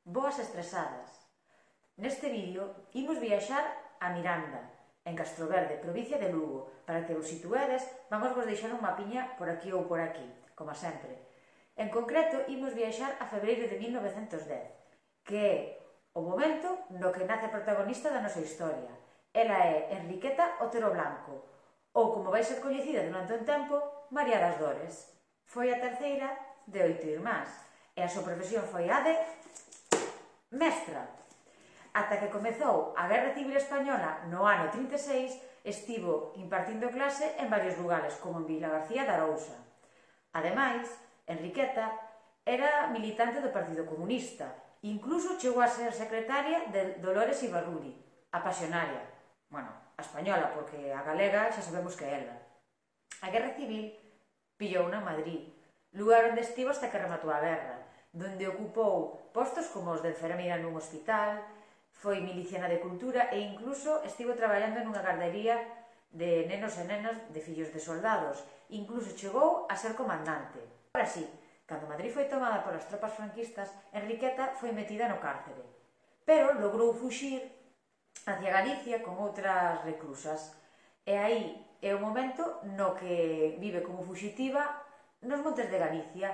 Boas estresadas. Neste vídeo imos viaxar a Miranda, en Castroverde, provincia de Lugo. Para que vos situedes, vamos vos deixar un mapiña por aquí ou por aquí, como sempre. En concreto, imos viaxar a febreiro de 1910, que é o momento no que nace a protagonista da nosa historia. Ela é Enriqueta Otero Blanco, ou como vai ser coñecida durante un tempo, María das Dores. Foi a terceira de 8 irmás, e a súa profesión foi a de mestra. Ata que comezou a Guerra Civil Española no ano 36, estivo impartindo clase en varios lugares, como en Vilagarcía de Arousa. Ademais, Enriqueta era militante do Partido Comunista, incluso chegou a ser secretaria de Dolores Ibarruri, a pasionaria. Bueno, a española, porque a galega xa sabemos que é ela. A Guerra Civil pillou na Madrid, lugar onde estivo hasta que rematou a guerra, donde ocupou postos como os de enfermeira nun hospital, foi miliciana de cultura e incluso estivo traballando nunha gardería de nenos e nenas de fillos de soldados. Incluso chegou a ser comandante. Ahora sí, cando Madrid foi tomada polas tropas franquistas, Enriqueta foi metida no cárcere, pero logrou fuxir hacia Galicia con outras reclusas. E aí é o momento no que vive como fuxitiva nos montes de Galicia,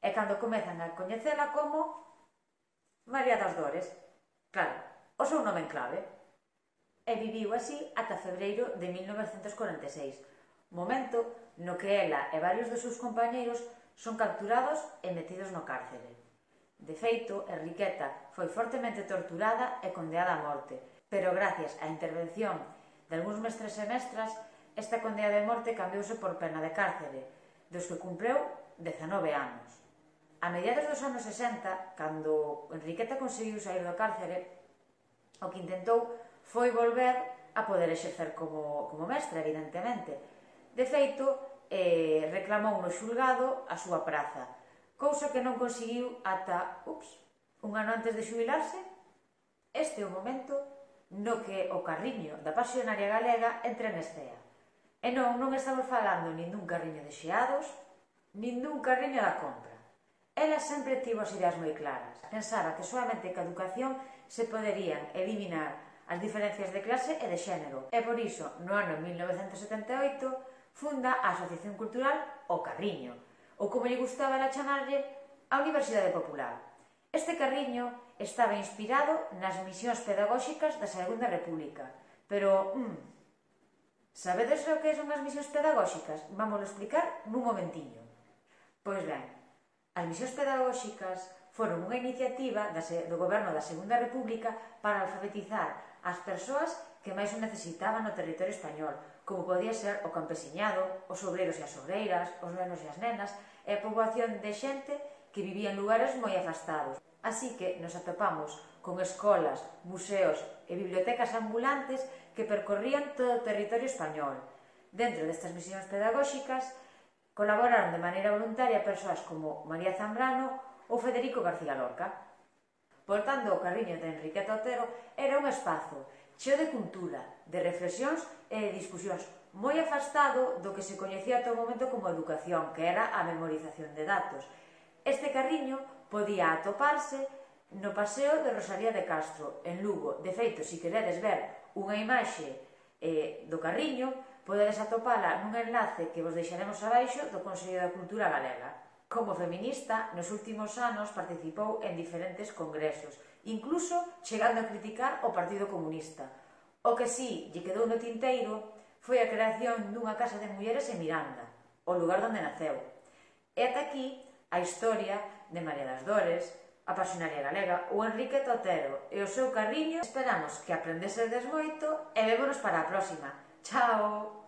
e cando comezan a coñecela como María das Dores. Claro, o seu nome en clave. E viviu así ata febreiro de 1946, momento no que ela e varios dos seus compañeiros son capturados e metidos no cárcere. De feito, Enriqueta foi fortemente torturada e condeada a morte, pero gracias á intervención de algúns mestres e mestras, esta condena de morte cambiouse por pena de cárcere, dos que cumpreu 19 anos. A mediados dos anos 60, cando Enriqueta conseguiu sair do cárcere, o que intentou foi volver a poder exercer como mestra, evidentemente. De feito, reclamou no xulgado a súa praza, cousa que non conseguiu ata un ano antes de xubilarse. Este é o momento no que o carriño da pasionaria galega entra en escena. E non estamos falando nin dun carriño de xeados, nin dun carriño da compra. Ela sempre tivo as ideas moi claras. Pensaba que solamente ca educación se poderían eliminar as diferencias de clase e de xénero. E por iso, no ano 1978, funda a Asociación Cultural O Carriño, ou como lle gustaba ela chamarlle, a Universidade Popular. Este carriño estaba inspirado nas misións pedagóxicas da Segunda República. Pero, sabedes o que son as misións pedagóxicas? Vamos a explicar nun momentiño. Pois ben, as misións pedagóxicas foron unha iniciativa do goberno da Segunda República para alfabetizar as persoas que máis o necesitaban no territorio español, como podía ser o campesiñado, os obreiros e as obreiras, os nenos e as nenas, e a poboación de xente que vivía en lugares moi afastados. Así que nos atopamos con escolas, museos e bibliotecas ambulantes que percorrían todo o territorio español. Dentro destas misións pedagóxicas colaboraron de maneira voluntaria persoas como María Zambrano ou Federico García Lorca. Por tanto, o carriño de Enriqueta Otero era un espazo cheo de cultura, de reflexións e de discusións, moi afastado do que se coñecía ata o momento como educación, que era a memorización de datos. Este carriño podía atoparse no Paseo de Rosalía de Castro, en Lugo. De feito, se queredes ver unha imaxe do carriño, podedes atopala nun enlace que vos deixaremos abaixo do Consello da Cultura Galega. Como feminista, nos últimos anos participou en diferentes congresos, incluso chegando a criticar o Partido Comunista. O que si lle quedou no tinteiro foi a creación dunha casa de mulleres en Miranda, o lugar onde naceu. E ata aquí a historia de María das Dores, a pasionaria galega, o Enriqueta Otero e o seu carriño. Esperamos que aprendesedes moito e vémonos para a próxima. Chao!